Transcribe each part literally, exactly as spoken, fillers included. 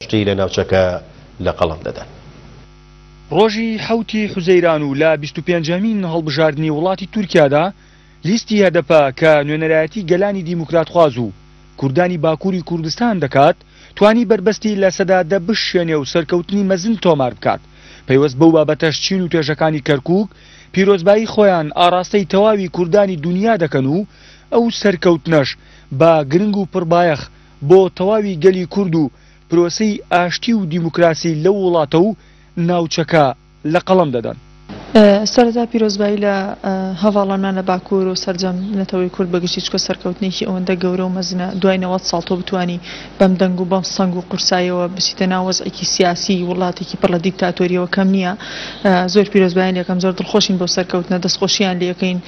ئاشتی لە ناوچەکە لە قەڵەم دەدەن. ڕۆژی حەوتی حوزەیران و لە بیست و پێنجەمین هەڵبژاردنی وڵاتی تورکیادا لیستی هەدەپە کە نوێنەرایەتی گەلانی دیموکراتخواز و کوردانی باکووری کوردستان دەکات توانی بەربەستی لە سەدا دە بشێنێ و سەرکەوتنی مەزن تۆمار بکات. پەیوەست بەو بابەتەش چین و توێژەکانی کەرکووک پیرۆزبایی خۆیان ئاراستەی تەواوی کوردانی دنیا دەکەن و ئەو سەرکەوتنەش بە گرنگ و پڕبایەخ بۆ تەواوی گەلی کورد و پرۆسەی ئاشتی و دیموکراسی لەو وڵاتە و ناوچەکە لە قەڵەم دەدەن. سەرەتا پیرۆزبایی لە هەواڵانمان لە باکوور و سەرجەم نەتەوەی کورد بەگشتی چکە سەرکەوتنێکی ئەوەندە گەورە و مەزنە دوای نەوەد ساڵ تۆ بتانی بەم دەنگ و بەم سەنگ و قورساییەوە بچیتە ناو وەزعێکی سیاسی وڵاتێکی پڕ لە دیکتاتۆریەوە کەم نییە. زۆر پیرۆزبایان لەکەم، زۆر دڵخۆشین بۆ سەرکەوتنە، دەستخۆشیان لێەکەین،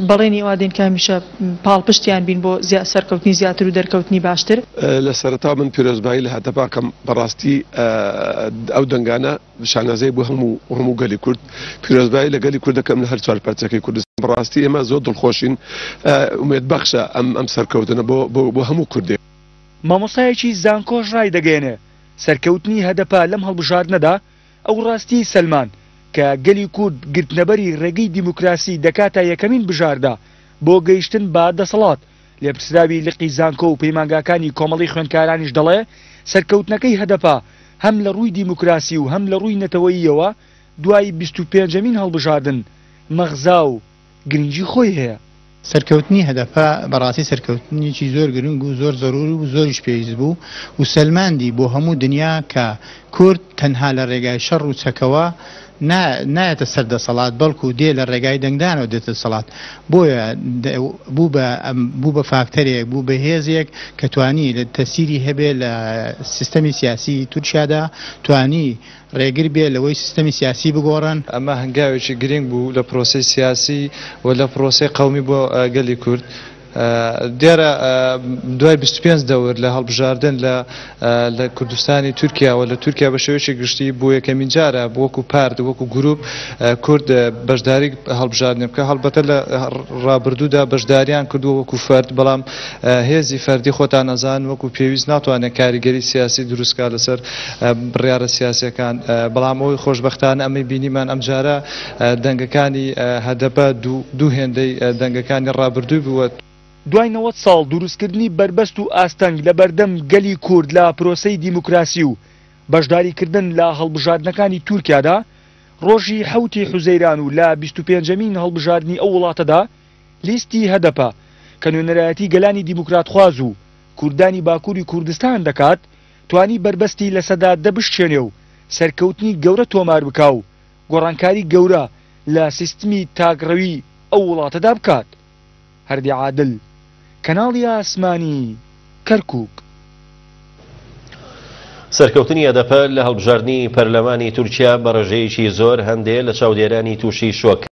بەڵێنی ئەوە دێن کە هەمیشە پاڵپشتیان بین بۆ سەرکەوتنی زیاتر و دەرکەوتنی باشتر. لە سەرەتا من پیرۆزبایی لە هەدەپاکەم بەڕاستی ئەو دەنگانە شانازەی بۆ هەموو هەموو گەلی کورد، پیرۆزبایی لە گەلی کورد دەکەم لە هەر چوار پارچەکەی کوردستان. بەڕاستی ئێمە زۆر دڵخۆشین، ئومێد بەخشە ئەم ئەم سەرکەوتنە بۆ بۆ هەموو کوردێک. مامۆستایەکی زانکۆش ڕای دەگەیەنێ سەرکەوتنی هەدەپە لەم هەڵبژاردنەدا ئەو ڕاستی سەلمان کە گەلی کورد گرتنەبەری ڕێگەی دیموکراسی دەکاتە یەکەمین بژاردە بۆ گەیشتن بە دەسەڵات. لێپرسراوی لقی زانکۆ و پەیمانگاکانی کۆمەڵی خوێندکارانیش دەڵێ سەرکەوتنەکەی هەدەپە هەم لە ڕووی دیموکراسی و هەم لە ڕووی نەتەوەییەوە دوای بیست و پێنجەمین هەڵبژاردن مەغزا و گرنگی خۆی هەیە. سەرکەوتنی هەدەپە بەڕاستی سەرکەوتنێکی زۆر گرنگ و زۆر زەروری و زۆریش پێویست بوو و سەلماندی بۆ هەموو دنیا کە کورد تەنها لە ڕێگای شەڕ و چەکەوە نایەتە سەر دەسەڵات، بەڵکو دێ لە ڕێگای دەنگدانەوە دێتە دەسەڵات. بۆیە بوو بە فاکتەرێک، بوو بە هێزێک کە توانی لە تەسیری هەبێ لە سیستەمی سیاسی تورکیادا، توانی ڕێگر بێ لەوەی سیستەمی سیاسی بگۆڕن. ئەمە هەنگاوێکی گرنگ بوو لە پرۆسەی سیاسی و لە پرۆسەی قەومی بۆ گەلی کورد. دیارە دوای بیست و پێنج دەور لە هەڵبژاردن لە کوردستانی تورکیا و لە تورکیا بە شێوەیەکی گشتی بۆ یەکەمین جارە وەکو پارت وەکو گروپ کورد بەشداری هەڵبژاردن بکە. هەڵبەتە لە ڕابردوودا بەشداریان کردووە وەکو فەرد، بەڵام هێزی فەردی خۆتان ئەزان وەکو پێویست ناتوانێت کاریگەری سیاسی دروستکا لەسەر بڕیارە سیاسیەکان. بەڵام ئەوەی خۆشبەختانە ئەمەی بینیمان ئەمجارە دەنگەکانی هەدەپە دوو هێندەی دەنگەکانی ڕابردووی بووە. دوای نەوەد ساڵ دروستکردنی بەربەست و ئاستەنگ لە بەردەم گەلی کورد لە پرۆسەی دیموکراسی و بەشداریکردن لە هەڵبژاردنەکانی تورکیادا ڕۆژی حەوتی حوزەیران و لە بیست و پێنجەمین هەڵبژاردنی ئەو وڵاتەدا لیستی هەدەپە کە نوێنەرایەتی گەلانی دیموکراتخواز و کوردانی باکووری کوردستان دەکات توانی بەربەستی لە سەدا دە بشکێنێ و سەرکەوتنی گەورە تۆمار بکا و گۆڕانکاری گەورە لە سیستمی تاکڕەوی ئەو وڵاتەدا بکات. هەردی عادل، کەناڵی ئاسمانی کەرکووک. سەرکەوتنی هەدەپە لە هەڵبژاردنی پەرلەمانی تورکیا بە ڕێژەیەکی زۆر هەندێ لە چاودێرانی تووشی شۆک